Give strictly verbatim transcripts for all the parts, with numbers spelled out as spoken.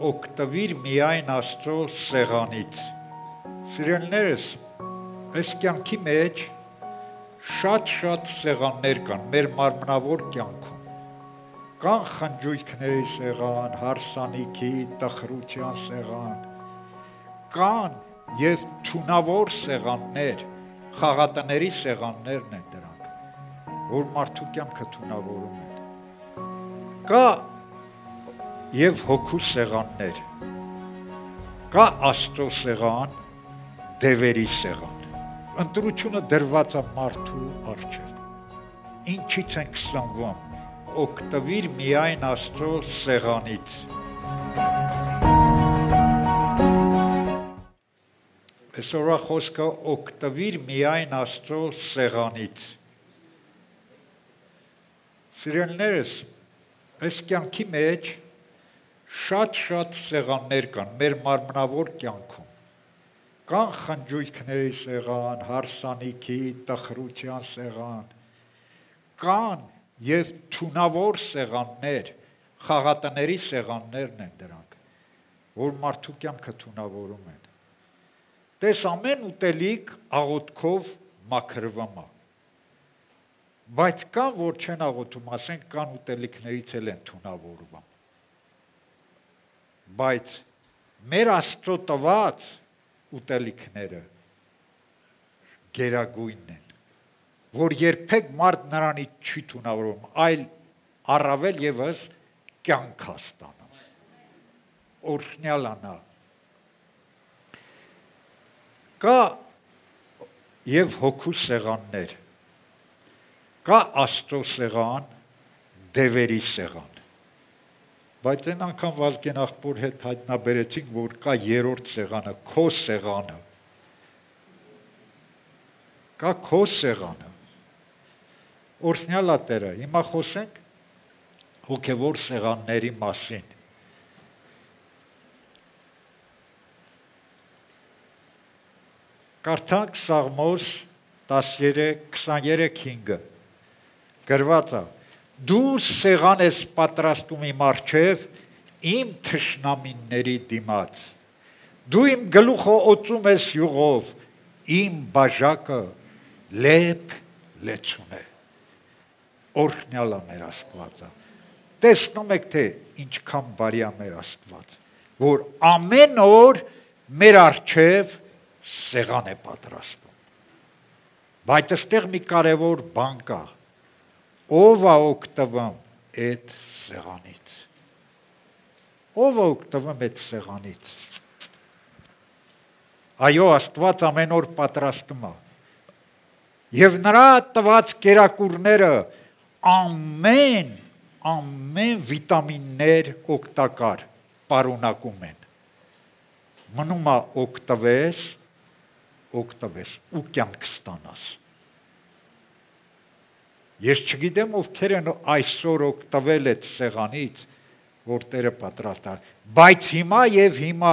օգտվիր միայն Աստծո սեղանից։ Սիրելիներս, այս կյանքի մեջ շատ-շատ սեղաններ կան մեր մարմնավոր կյանքում։ Կան խնջույքների սեղան, հարսանիքի, տխրության սեղան, կան եւ թունավոր սեղաններ, խաղատների սեղաններն են դրանք, որ մարդու կյանքը թունավորում են։ Կա եւ հոգու սեղաններ, կա Աստծո սեղան, դևերի սեղան։ Ընտրությունը դրված է մարդու առջև։ Ինչից ենք սնվում, օգտվիր միայն Աստծո սեղանից։ Այսօրվա խոսքը օգտվիր միայն Աստծո սեղանից։ Սիրելիներս, այս կյանքի մեջ շատ-շատ սեղաններ կան մեր մարմնավոր կյանքում։ Կան խնջույքների սեղան, հարսանիքի, տխրության սեղան, կան եւ թունավոր սեղաններ, խաղատների սեղաններն են դրանք, որ մարդու կյանքը թունավորում են։ Տես ամեն ուտելիք աղոթքով մաքրվում է։ Բայց կան, որ չեն աղոթում, ասենք կան ուտելիքներից էլ են թունավորվում։ Բայց մեր Աստծո տված ուտելիքները գերագույնն են, որ երբեք մարդ նրանից չի թունավորում, այլ առավել եւս կյանք է ստանում։ Օրհնյալ անա։ Կա եւ հոգու սեղաններ, կա Աստծո սեղան, դևերի սեղան։ Բայց այն անգամ Վազգեն աղբոր հետ հայտնաբերեցինք, որ կա երրորդ սեղանը, քո սեղանը։ Կա քո սեղանը։ Օրհնյալ է Տերը, հիմա խոսենք հոգևոր սեղանների մասին։ Կարդանք Սաղմոս տասներեք քսաներեք հինգը։ Գրված է. Դու սեղան ես պատրաստում իմ առջև իմ թշնամիների դիմաց։ Դու իմ գլուխը օծում ես յուղով, իմ բաժակը լեփ լեցուն է։ Օրհնյալ է մեր Աստվածը։ Տեսնում եք, թե ինչքան բարի է մեր Աստված, որ ամեն օր մեր առջև սեղան է պատրաստում։ Բայց այստեղ մի կարևոր բան կա։ Ով է օգտվում այդ սեղանից։ Ով է օգտվում այդ սեղանից։ Այո, Աստված ամեն օր պատրաստում է։ Եվ նրա տված կերակուրները ամեն, ամեն վիտամիններ օգտակար պարունակում են։ Մնում է օգտվես, օգտվես ու կյանք ստանաս։ Ես չգիտեմ ովքեր են այսօր օգտվել այդ սեղանից, որ Տերը պատրաստ է, բայց հիմա եւ հիմա,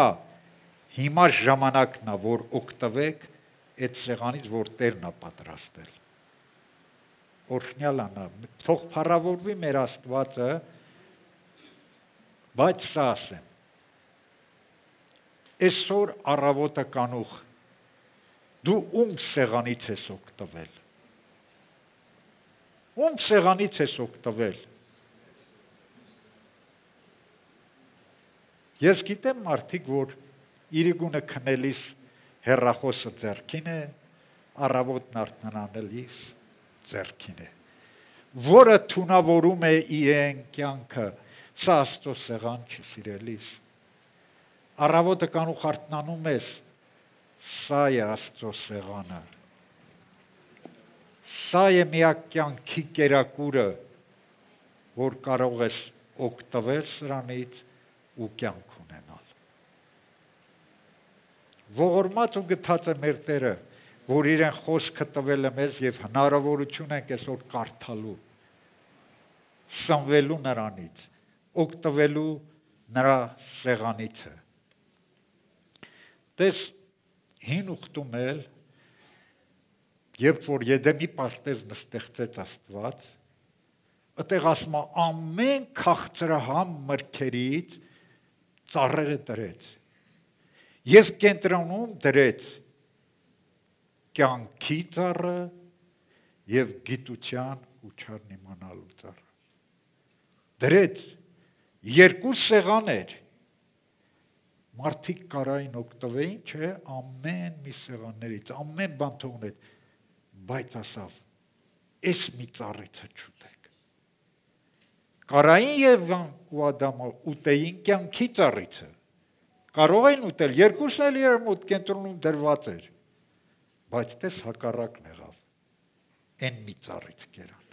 հիմա ժամանակն է, որ օգտվեք այդ սեղանից, որ Տերն է պատրաստել։ Օրհնյալ անա, թող փառավորվի մեր Աստվածը, բայց սա ասեմ։ Այսօր առավոտը կանուխ, դու ում սեղանից ես օգտվել։ Ում սեղանից ես օգտվել։ Ես գիտեմ մարդիկ, որ իրիկունը քնելիս հեռախոսը ձեռքին է, առավոտն արթնանալիս ձեռքին է, որը թունավորում է իրեն կյանքը, սա Աստծո սեղան չի, սիրելիս։ Առավոտը կանուխ արթնանում ես, սա է Աստծո սեղանը։ Սա է միակ կյանքի կերակուրը, որ կարող ես օգտվել սրանից ու կյանք ունենալ։ Ողորմած ու գթած է մեր Տերը, որ իրեն խոսքը տվել է մեզ եւ հնարավորություն ենք այսօր կարդալու, սնվելու նրանից, օգտվելու նրա սեղանից։ Տես հին ուխտում էլ Երբ որ Եդեմի պարտեզն ստեղծեց Աստված, այդտեղ ասում է ամեն քաղցրահամ մրգերից ծառերը դրեց եւ կենտրոնում դրեց կյանքի ծառը եւ գիտության ու չարն իմանալու ծառը դրեց երկու սեղաններ մարդիկ կարային օգտվեին չէ ամեն մի սեղաններից ամեն բան թողնեց բայց ասավ էս մի ծառիցը չուտեք կարային եւ ու Ադամը ուտեին կյանքի ծառիցը կարող էին ուտել երկուսն էլ իրար մոտ կենտրոնում դրված էր բայց տես հակառակն եղավ այն մի ծառից կերան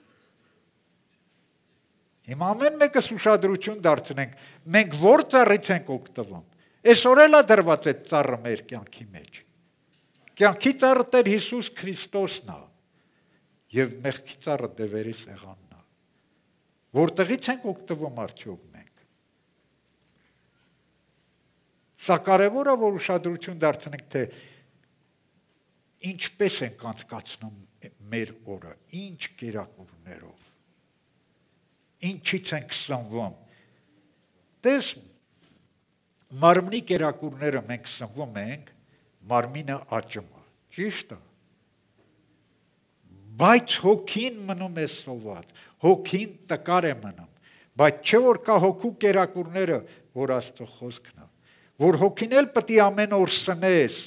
հիմա ամեն մեկս ուշադրություն դարձնենք մենք որ ծառից ենք օգտվում այսօր էլ է դրված այդ ծառը մեր կյանքի մեջ կյանքի ծառը Տեր Հիսուս Քրիստոսն է եւ մեղքի ծառը դևերի սեղանն է որտեղից ենք օգտվում արդյոք մենք սա կարևոր է որ ուշադրություն դարձնենք թե ինչպես ենք անցկացնում մեր օրը ինչ կերակուրներով ինչից ենք սնվում տես մարմնի կերակուրները մենք սնվում ենք մարմինը աճում է ճիշտ է բայց հոգին մնում է սոված հոգին տկար է մնում բայց չէ որ կա հոգու կերակուրները որ Աստծո խոսքն է որ հոգին էլ պետք է ամեն օր սնես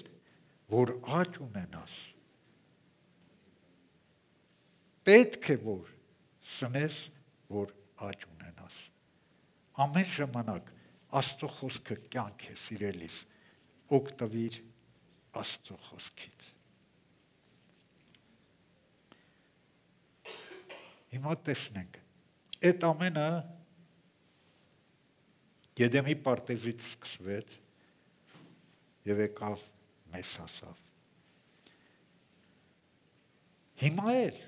որ աճ ունենաս պետք է որ սնես որ աճ ունենաս ամեն ժամանակ Աստծո խոսքը կյանք է սիրելիս օգտվիր Աստծո խոսքից հիմա տեսնենք այդ ամենը Եդեմի պարտեզից սկսվեց եւ եկավ մեզ հասավ հիմա էլ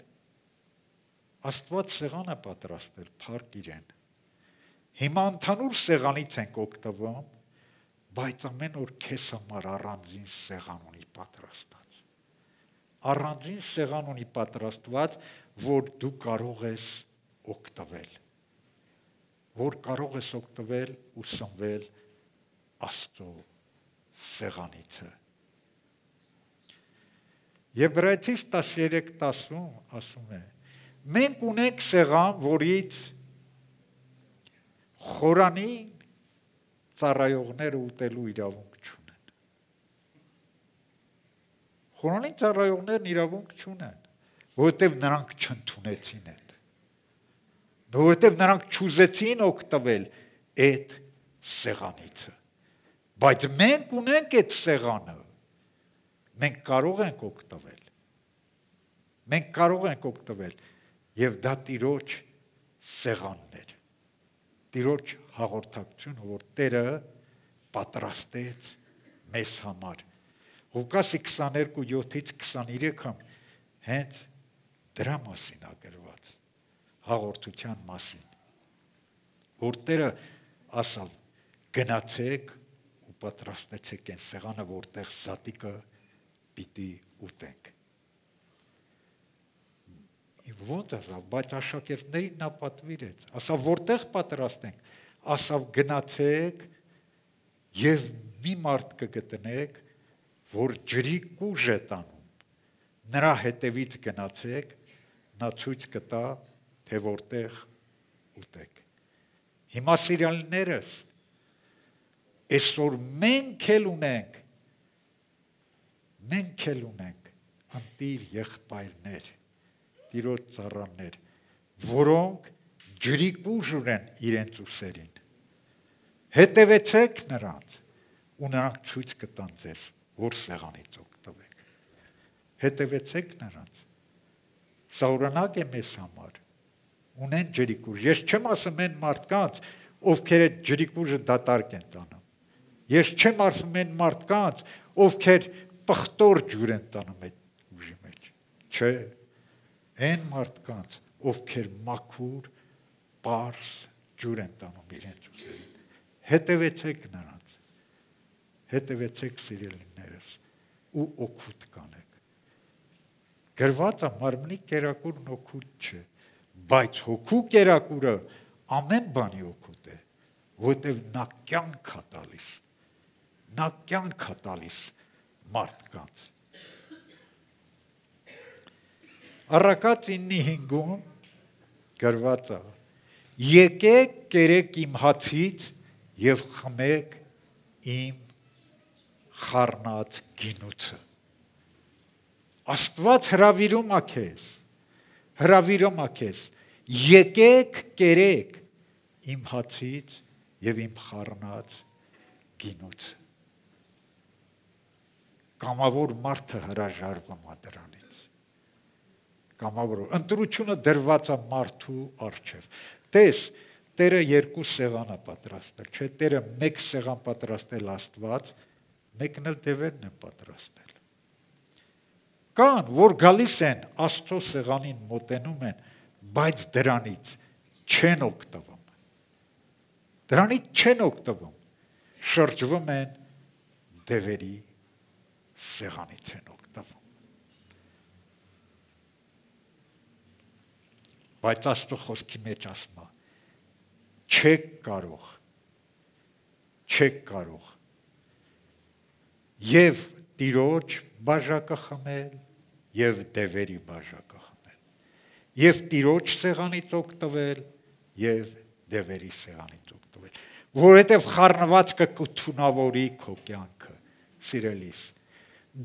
Աստված սեղան է պատրաստել փառք իրեն հիմա ընդհանուր սեղանից ենք օգտվում բայց ամեն օր քեզ համար առանձին սեղան ունի պատրաստած առանձին սեղան ունի պատրաստված որ դու կարող ես օգտվել որ կարող ես օգտվել ու սնվել Աստծո սեղանիցը Եբրայեցիս տասներեք տասում ասում է մենք ունենք սեղան որից խորանին ծառայողները ուտելու իրավունք չունեն խորանին ծառայողներն իրավունք չունեն որովհետև նրանք չընդունեցին այդ որովհետև նրանք չուզեցին օգտվել այդ սեղանիցը բայց մենք ունենք այդ սեղանը մենք կարող ենք օգտվել մենք կարող ենք օգտվել եւ դա Տիրոջ սեղանն էր Տիրոջ հաղորդակցությունը որ Տերը պատրաստեց մեզ համար Ղուկասի քսաներկու յոթից քսաներեքը հենց դրա մասին է գրված հաղորդության մասին որ Տերը ասավ գնացեք ու պատրաստեցեք այն սեղանը որտեղ զատիկը պիտի ուտենք ոնց ասավ բայց աշակերտներին նա պատվիրեց ասավ որտեղ պատրաստենք ասավ գնացեք եւ մի մարդ կգտնեք որ ջրի կուժ է տանում նրա հետևից գնացեք նա ցույց կտա թե որտեղ ուտեք հիմա սիրալիներս այսօր մենք էլ ունենք մենք էլ ունենք ընտիր եղբայրներ Տիրոջ ծառաներ որոնք ջրի կուժ ունեն իրենց ուսերին հետևեցեք նրանց ու նրանք ցույց կտան ձեզ որ սեղանից օգտվեք հետևեցեք նրանց սա օրինակ է մեզ համար ունեն ջրի կուժ ես չեմ ասում այն մարդկանց ովքեր այդ ջրի կուժը դատարկ են տանում ես չեմ ասում այն մարդկանց ովքեր պղտոր ջուր են տանում այդ ուժի մեջ չէ այն մարդկանց ովքեր մաքուր պարզ ջուր են տանում իրենց ուզերին հետևեցեք նրանց հետևեցեք սիրելիներս ու օգուտ կանեք գրված է մարմնի կերակուրն օգուտ չէ բայց հոգու կերակուրը ամեն բանի օգուտ է որտեվ նա կյանք է տալիս։ Նա կյանք է տալիս մարդկանց։ Առակաց իննի հինգում գրված է. եկեք կերեք իմ հացից եւ խմեք իմ խառնած գինուցը։ Աստված հրավիրում է քեզ, հրավիրում է քեզ, եկեք կերեք իմ հացից եւ իմ խառնած գինուցը։ Կամավոր մարդը հրաժարվում է դրանից։ Կամավոր ընտրությունը դրված է մարդու առջև։ Տես, Տերը երկու սեղան է պատրաստել, չէ, Տերը մեկ սեղան պատրաստել Աստված, մեկն էլ դևերն է պատրաստել։ Կան, որ գալիս են Աստծո սեղանին մոտենում են, բայց դրանից չեն օգտվում։ Դրանից չեն օգտվում, շրջվում են դևերի սեղանից են օգտվում։ Բայց Աստծո խոսքի մեջ ասում է, չեք կարող, չեք կարող եւ Տիրոջ բաժակը խմել եւ դևերի բաժակը խմել, եւ Տիրոջ սեղանից օգտվել եւ դևերի սեղանից օգտվել, որովհետեւ խառնվածքը կթունավորի քո կյանքը, սիրելիս։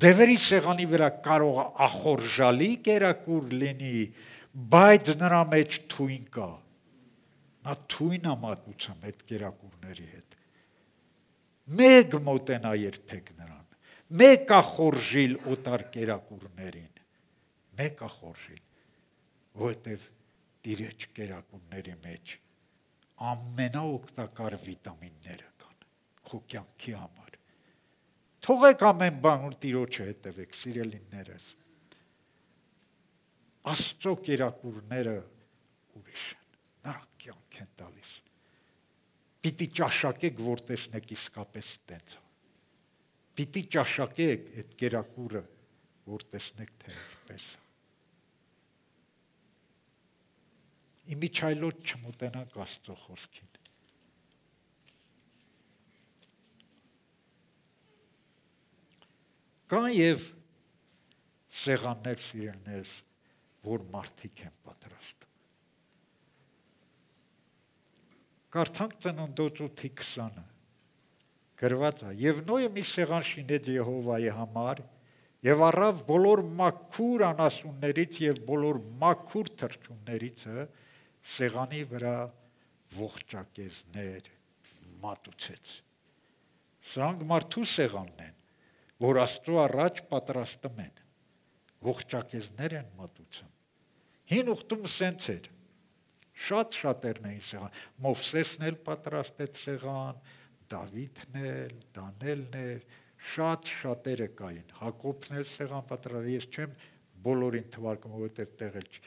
Դևերի սեղանի վրա կարող է ախորժալի կերակուր լինի, բայց նրա մեջ թույն կա։ Նա թույն է մատուցում այդ կերակուրների հետ։ Մեկ մոտենա երբեք նրան, մեկ ախորժիլ օտար կերակուրներին, մեկ ախորժիլ, որովհետև Տիրոջ կերակուրների մեջ ամենաօգտակար վիտամինները կան, քո կյանքի համար։ Թողեք ամեն բան ու Տիրոջը հետևեք, սիրելիներս։ Աստծո կերակուրները ուրիշ են, նրանք կյանք են տալիս։ Պիտի ճաշակեք, որ տեսնեք իսկապես տենց է։ Պիտի ճաշակեք այդ կերակուրը, որ տեսնեք թե ինչպես է։ Իմիջայլոց չմոտենանք Աստծո խոսքին։ Կան եւ սեղաններ սիրելիներս, որ մարդիկ են պատրաստում։ Կարդանք Ծննդոց ութի քսանը, գրված է. եւ Նոյը մի սեղան շինեց Եհովայի համար եւ առավ բոլոր մաքուր անասուններից եւ բոլոր մաքուր թռչուններիցը սեղանի վրա ողջակեզներ մատուցեց։ Սրանք մարդու սեղանն են, որ Աստծո առաջ պատրաստում են, ողջակեզներ են մատուցում։ Հին ուխտում սենց էր, շատ շատերն էին սեղան, Մովսեսն էլ պատրաստեց սեղան, Դավիթն էլ, Դանիելն էլ, շատ շատերը կային, Հակոբն էլ սեղան պատրաստել, ես չեմ բոլորին թվարկում, որովհետև տեղել չի։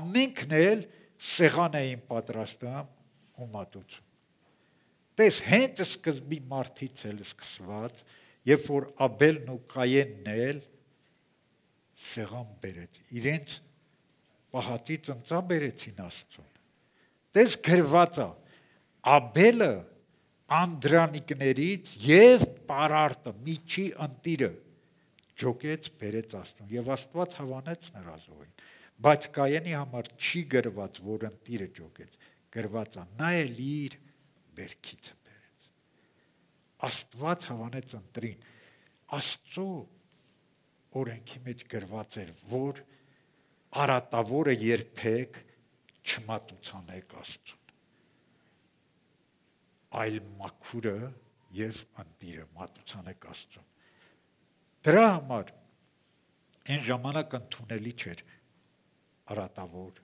Ամենքն էլ սեղան էին պատրաստում ու մատուցում։ Տես, հենց սկզբի մարդից էլ սկսված, երբ որ Աբելն ու Կայենն էլ սեղան բերեց, իրենց պահածի ծնծա բերեցին Աստծուն։ Տես գրված է, Աբելը անդրանիկներից եւ պարարտը, միջի ընտիրը ջոկեց բերեց Աստծուն եւ Աստված հավանեց նրա զոհին։ Բայց Կայենի համար չի գրված, որ ընտիրը ջոկեց, գրված է, նա էլ իր բերքիցը բերեց։ Աստված հավանեց ընտրին։ Աստծո օրենքի մեջ գրված էր, որ արատավորը երբեք չմատուցանեք Աստծուն, այլ մաքուրը եւ ընտիրը մատուցանեք Աստծուն։ Դրա համար այն ժամանակ ընդունելի չէր արատավոր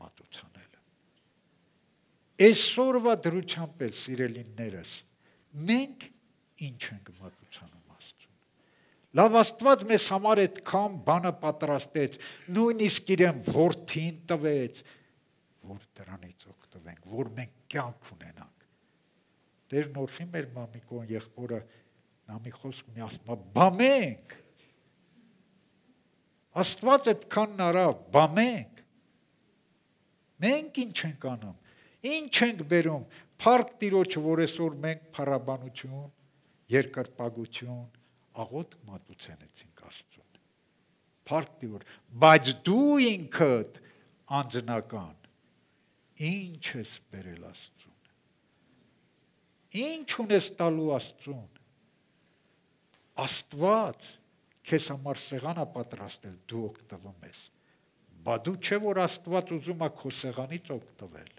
մատուցանելը։ Այսօրվա դրությամբ էլ, սիրելիներս, մենք ինչ ենք մատուցանում Աստծուն։ Լավ Աստված մեզ համար այդքան բանը պատրաստեց, նույնիսկ իրեն որդին տվեց, որ դրանից օգտվենք, որ մենք կյանք ունենանք։ Տերն օրհնի մեր մամիկոն եղբորը, նա մի խոսք ունի, ասում է, բա մենք, Աստված այդքան նրա, բա մենք, մենք ինչ ենք անում, Ինչ ենք բերում, փառք Տիրոջը, որ այսօր մենք փառաբանություն, երկրպագություն, աղոթք մատուցեցինք Աստծուն։ Փառք Տիրոջ, բայց դու ինքդ անձնական ինչ ես բերել Աստծուն։ Ինչ ունես տալու Աստծուն։ Աստված քեզ համար սեղան է պատրաստել, դու օգտվում ես։ Բա դու չէ որ Աստված ուզում է քո սեղանից օգտվել։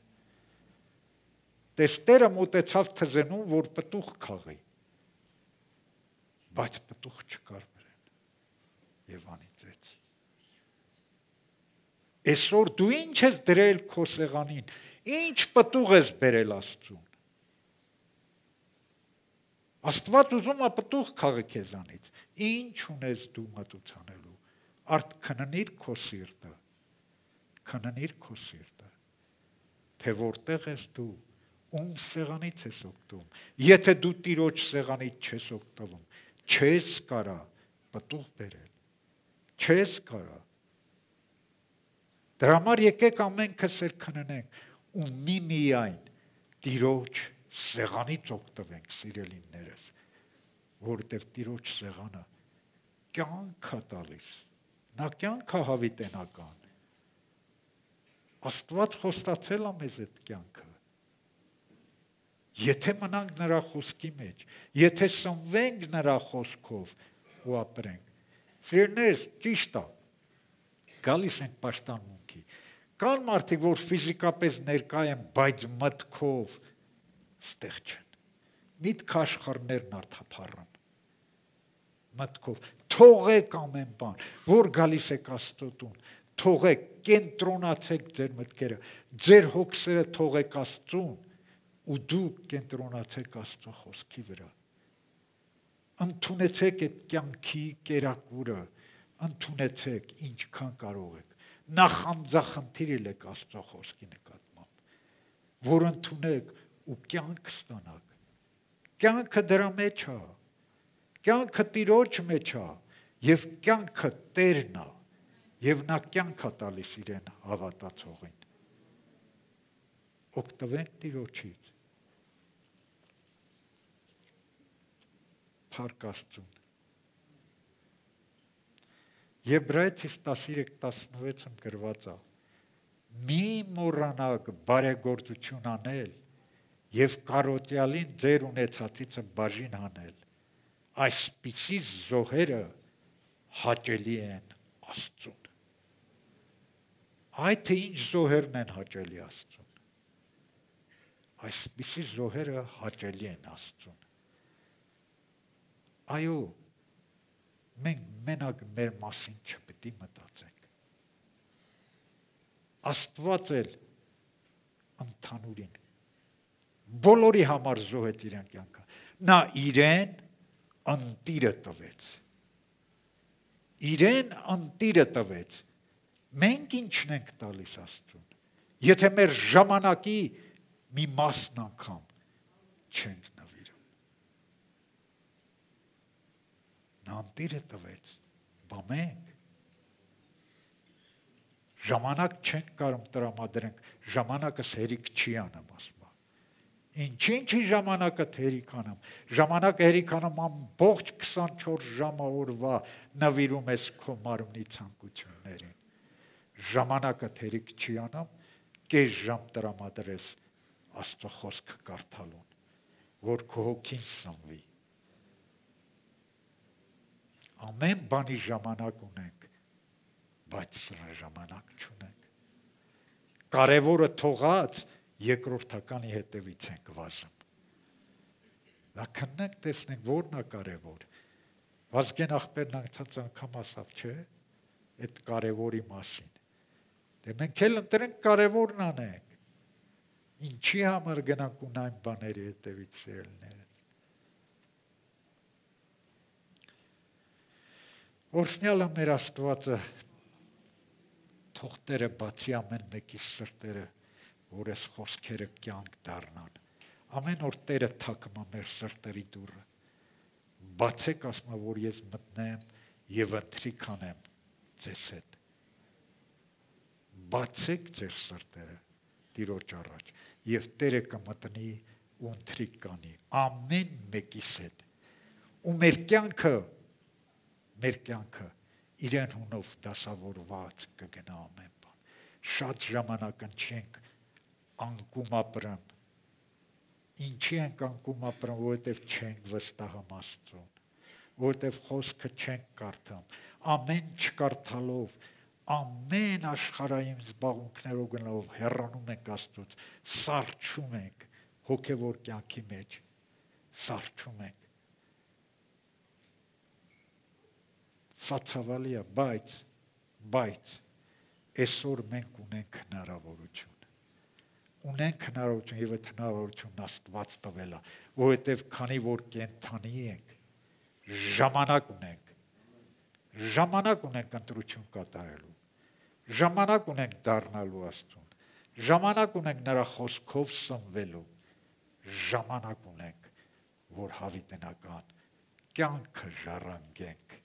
Տեստերը մոտեցավ թզենուն, որ պտուղ քաղի, բայց պտուղ չկար վրան եւ անիծեց։ Այսօր դու ինչ ես դրել քո սեղանին, ինչ պտուղ ես բերել Աստծուն։ Աստված ուզում է պտուղ քաղի քեզանից, ինչ ունես դու մատուցանելու, արդ քննիր քո սիրտը, քննիր քո սիրտը, թե որտեղ ես դու, ում սեղանից ես օգտվում, եթե դու Տիրոջ սեղանից չես օգտվում, չես կարա պտուղ բերել, չես կարա։ Դրա համար եկեք ամենքս էլ քննենք ու միմիայն Տիրոջ սեղանից օգտվենք, սիրելիներս, որտև Տիրոջ սեղանը կյանք է տալիս, նա կյանք է հավիտենական։ Աստված խոստացել է մեզ այդ կյանքը։ Եթե մնանք նրա խոսքի մեջ, եթե սնվենք նրա խոսքով ու ապրենք։ Սիրելիներս, ճիշտ է, գալիս ենք պաշտամունքի։ Կան մարդիկ, որ ֆիզիկապես ներկա են, բայց մտքով ստեղ չեն։ Միտք աշխարհներն արտափառան։ Մտքով թողեք ամեն բան, որ գալիս եք Աստծո տուն, թողեք, կենտրոնացեք ձեր մտքերը, ձեր հոգսերը թողեք Աստծուն ու դուք կենտրոնացեք Աստծո խոսքի վրա։ Ընդունեցեք այդ կյանքի կերակուրը, ընդունեցեք ինչքան կարող եք։ Նախանձախնդիր ելեք Աստծո խոսքի նկատմամբ, որ ընդունեք ու կյանք ստանաք։ Կյանքը դրա մեջ է, կյանքը Տիրոջ մեջ է եւ կյանքը Տերն է եւ նա կյանք է տալիս իրեն հավատացողին։ Օգտվենք Տիրոջից։ Փառք Աստծուն։ Եբրայեցիս տասնյոթ տասնվեցում գրված է. մի մոռանաք բարեգործություն անել եւ կարոտյալին ձեր ունեցածիցը բաժին հանել։ Այսպիսի զոհերը հաճելի են Աստծուն։ Այդ թե ինչ զոհերն են հաճելի Աստծուն։ Այսպիսի զոհերը հաճելի են Աստծուն։ Այո, մենք մենակ մեր մասին չպետք է մտածենք։ Աստված էլ ընդհանուրին բոլորի համար զոհեց իրեն կյանքը։ Նա իրեն ընտիրը տվեց։ Իրեն ընտիրը տվեց։ Մենք ինչն ենք տալիս Աստծուն։ Եթե մեր ժամանակի մի մասն անգամ չենք նվիրում։ Նա ընտիրը տվեց, բա մենք ժամանակ չենք կարող տրամադրենք, ժամանակս հերիք չի անում ասում։ Ինչ-ինչի ժամանակը հերիք անում, ժամանակը հերիք անում ամբողջ քսանչորս ժամը օրվա նվիրում ես քո մարմնի ցանկություններին։ Ժամանակը հերիք չի անում, կես ժամ տրամադրես Աստծո խոսքը կարդալուն, որ քո հոգին սնվի։ Ամեն բանի ժամանակ ունենք, բայց սրա ժամանակ չունենք։ Կարևորը թողած երկրորդականի հետևից ենք վազում։ Դա քննենք տեսնենք որն է կարևոր։ Վազգեն աղբերն անցած անգամ ասավ, չէ՞, այդ կարևորի մասին։ Դե մենք էլ ընտրենք կարևորն անենք։ Ինչի համար գնանք ունայն բաների հետևից սիրելիներս։ Օրհնյալ է մեր Աստվածը, թող Տերը բացի ամեն մեկի սրտերը, որ այս խոսքերը կյանք դառնան։ Ամեն օր Տերը թակում է մեր սրտերի դուռը։ Բացեք, ասում է, որ ես մտնեմ եւ ընթրիք անեմ ձեզ հետ։ Բացեք ձեր սրտերը, Տիրոջ առաջ եւ Տերը կմտնի ու ընթրիկ կանի ամեն մեկիս հետ ու մեր կյանքը մեր կյանքը իրեն հունով դասավորված կգնա ամեն բան շատ ժամանակ ընչենք անկում ապրեմ ինչի ենք անկում ապրեմ որովհետեւ չենք վստահում Աստծուն որովհետև խոսքը չենք կարդամ, ամեն չկարդալով, ամեն աշխարհային զբաղմունքներով գնալով հեռանում ենք Աստծուց, սառչում ենք հոգևոր կյանքի մեջ, սառչում ենք։ Սա ցավալի է, բայց, բայց այսօր մենք ունենք հնարավորություն։ Ունենք հնարավորություն եւ այդ հնարավորությունն Աստված տվել է, որովհետև քանի որ կենթանի ենք ժամանակ ունենք, ժամանակ ունենք ընտրություն կատարելու, ժամանակ ունենք դառնալու Աստծուն, ժամանակ ունենք նրա խոսքով սնվելու, ժամանակ ունենք, որ հավիտենական կյանքը ժառանգենք։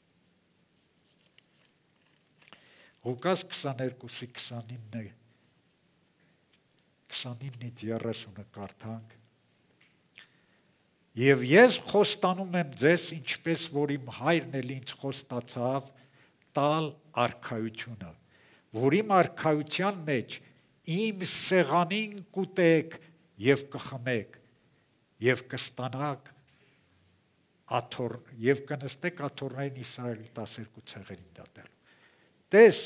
Ղուկաս քսաներկուսի քսանինը քսանինից երեսունը կարդանք Եվ ես խոստանում եմ ձեզ, ինչպես որ իմ հայրն էլ ինձ խոստացավ տալ արքայությունը, որ իմ արքայության մեջ իմ սեղանին կուտեք եւ կխմեք եւ կստանաք աթոռ եւ կնստեք աթոռներին Իսրայելի տասներկու ցեղերին դատելու։ Տես,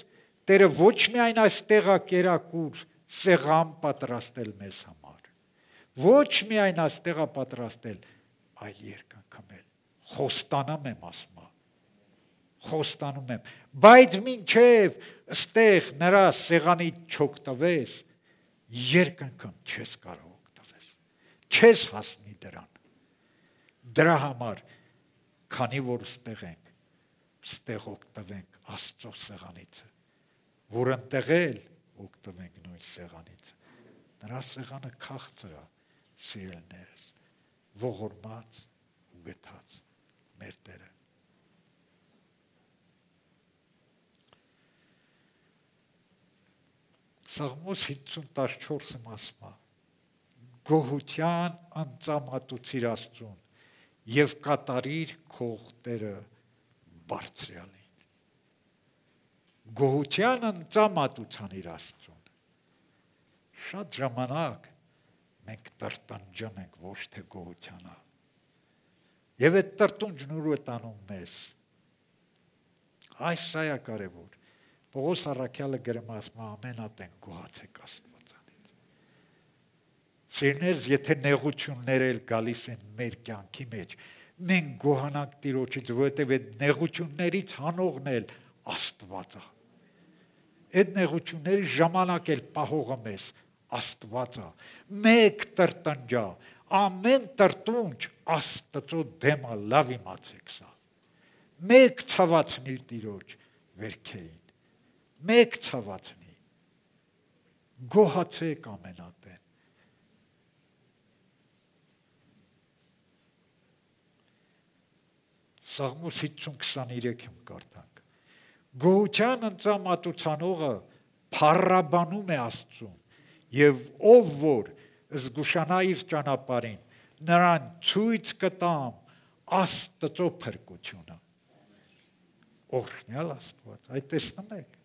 Տերը ոչ միայն այստեղ է կերակուր սեղան պատրաստել մեզ համար, ոչ միայն այստեղ է պատրաստել այլ երկնքամել, խոստանում եմ ասմա, խոստանում եմ, բայց մինչև ստեղ նրա սեղանի չօգտվես, երկնքում չես կարող օգտվել, չես հասնի դրան, դրա համար, քանի որ ստեղ ենք, ստեղ օգտվենք Աստծո սեղանից, որ ընտեղել օգտվենք նույն սեղանից, նրա սեղանը քաղցր է, սիրելիներս, ողորմած ու գթած մեր Տերը։ Սաղմոս հինգսուն տասնչորսը ասում է. գոհության անծամատուցիր Աստծուն եւ կատարիր քո ուխտերը բարձրյալին։ Գոհության անծամատուցան իր Աստծուն։ Շատ ժամանակ մենք տրտանջում ենք ոչ թե գոհությանա։ Եվ այդ տրտունջն ուր է տանում մեզ։ Այս սա է կարևոր։ Պողոս առաքյալը գրում է ամենատեն գոհացեք Աստվածանից։ Սիրներս, եթե նեղություններ էլ գալիս են մեր կյանքի մեջ, մենք գոհանանք Տիրոջից, որովհետև այդ նեղություններից հանողն էլ Աստված է։ Այդ նեղությունների ժամանակ էլ պահողը մեզ Աստված է։ Մեկ տրտնջա, ամեն տրտունջ Աստծո դեմը լավ իմացեք սա։ Մեկ ցավացնի Տիրոջ վերքերին։ Մեկ ցավացնի։ Գոհացեք ամենատեն։ Սաղմոս հինգսուն քսաներեքում կարդանք։ Գոհության ընծամատուցանողը փառաբանում է Աստծուն, եւ ով որ զգուշանա իր ճանապարհին, նրան ցույց կտամ Աստծո փրկությունը։ Օրհնյալ Աստված, այդ տեսնում եք։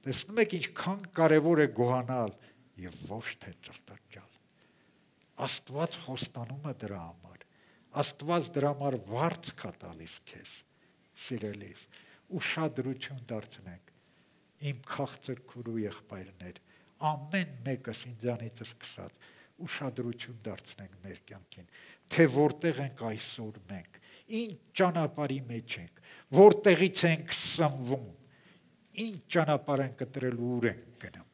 Տեսնում եք ինչքան կարևոր է գոհանալ եւ ոչ թե տրտանջալ։ Աստված խոստանում է դրա համար։ Աստված դրա համար վարձ կա տալիս քեզ, սիրելիս, ուշադրություն դարձնենք իմ քաղցր քուրու եղբայրներ, ամեն մեկս ինձանից սկսած ուշադրություն դարձնենք մեր կյանքին, թե որտեղ ենք այսօր մենք, ինչ ճանապարհի մեջ ենք, որտեղից ենք սնվում, ինչ ճանապարհ ենք կտրել ու ուր ենք գնում։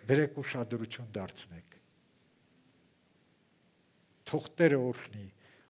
Բերեք ուշադրություն դարձնենք։ Թող Տերը օրհնի